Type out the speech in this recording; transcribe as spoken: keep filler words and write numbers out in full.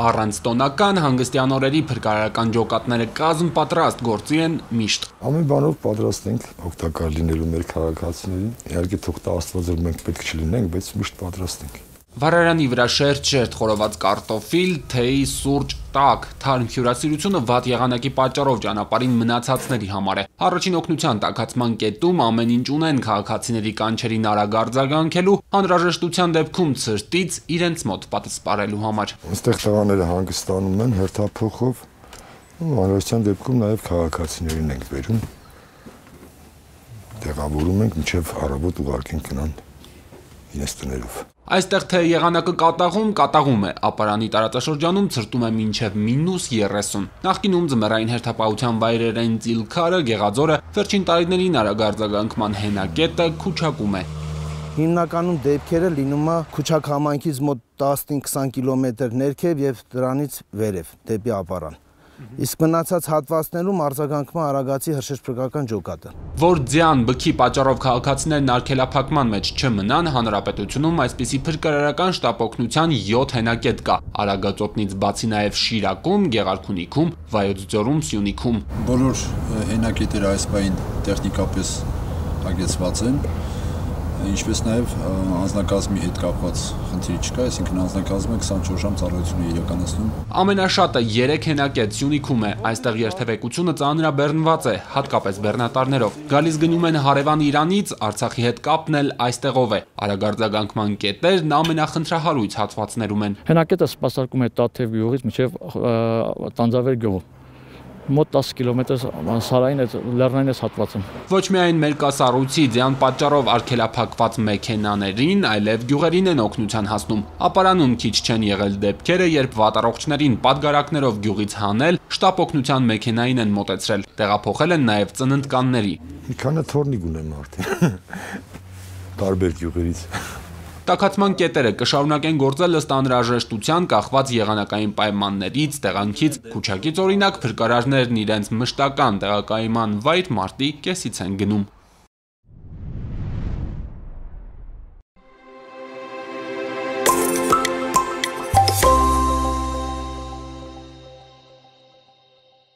Առանց տոնական հանգստյան օրերի փրկարարական ջոկատները կազմ պատրաստ գործի են միշտ։ Ամեն բանով պատրաստ ենք օգտակար լինելու մեր քաղաքացիներին։ Իհարկե թող տա Աստված որ մենք պետք չլինենք, բայց միշտ պատրաստ ենք։ Վառարանի վրա շերտ-շերտ խորոված կարտոֆիլ, թեյ, սուրճ, տաք, թարմ հյուրասիրությունը վատ եղանակի պատճառով ճանապարհին մնացածների համար է։ Առաջին օգնության տաքացման կետում ամեն ինչ ունեն քաղաքացիների կանչերին արագ արձագանքելու, անհրաժեշտության դեպքում ցրտից իրենց մոտ պատասպարելու համար։ Այստեղ տղաները հանգստանում են հերթափոխով, ու անհրաժեշտության դեպքում նաև քաղաքացիներին ենք բերում։ Տեղավորում ենք մինչև առավոտ ուղարկենք գնան իրենց տներով։ Այստեղ թե եղանակը կատաղում, կատաղում է, ապարանի տարածաշրջանում ցրտում է մինչև մինուս երեսուն։ Նախկինում ձմեռային հերթապահության վայրեր են Ծիլքարը, Գեղաձորը, վերջին տարիներին արագ արձագանքման հենակետը Քուչակում է։ Հիմնականում դեպքերը լինում է Քուչակ համայնքից մոտ տասնհինգ քսան կիլոմետր ներքև եւ դրանից վերև դեպի ապարան։ Իսկ մնացած հատվածներում արձագանքման արագացի հրշեջփրկական ջոկատը։ Որ ձյան բքի պատճառով քաղաքացիներն արգելափակման մեջ չմնան, հանրապետությունում այսպիսի փրկարարական շտապօգնության յոթ հենակետ կա։ Արագածոտնից բացի նաև Շիրակում, Գեղարքունիքում, Վայոց ձորում, Սյունիքում։ Բոլոր հենակետերը այս պահին տեխնիկապես հագեցված են, ինչպես նաև անձնակազմի հետ կապված խնդիր չկա, այսինքն անձնակազմը քսանչորս ժամ ծառայություն է իրականացնում։ Ամենաշատը երեք հենակետ Սյունիքում է, այստեղ երթևեկությունը ծանրաբեռնված է, հատկապես բեռնատարներով։ Գալիս գնում են հարևան Իրանից, Արցախի հետ կապն էլ այստեղով է։ Արագ արձագանքման կետերն ամենախնդրահարույց հատվածներում են։ Հենակետը սպասարկում է Տաթև գյուղից մինչև Տանձավեր գյուղ։ Մոտ տասը կիլոմետր սարային այդ լեռնային այս հատվածում։ Ոչ միայն մեր կասառույցի ձյան պատճառով արգելափակված մեքենաներին, այլև գյուղերին են օգնության հասնում։ Ապարանում քիչ չեն եղել դեպքերը, երբ վատառողջներին պատգարակներով գյուղից հանել, շտապ օգնության մեքենային են մոտեցրել։ Տեղափոխել են նաև ծննդկանների։ Մի քանի թորնիկ ունեմ արդեն։ Տարբեր գյուղերից։ Տաքացման կետերը կշարունակեն գործել ըստ անհրաժեշտության կախված եղանակային պայմաններից, տեղանքից, Քուչակից օրինակ փրկարարներն իրենց մշտական տեղակայման վայր մարտի կեսից են գնում։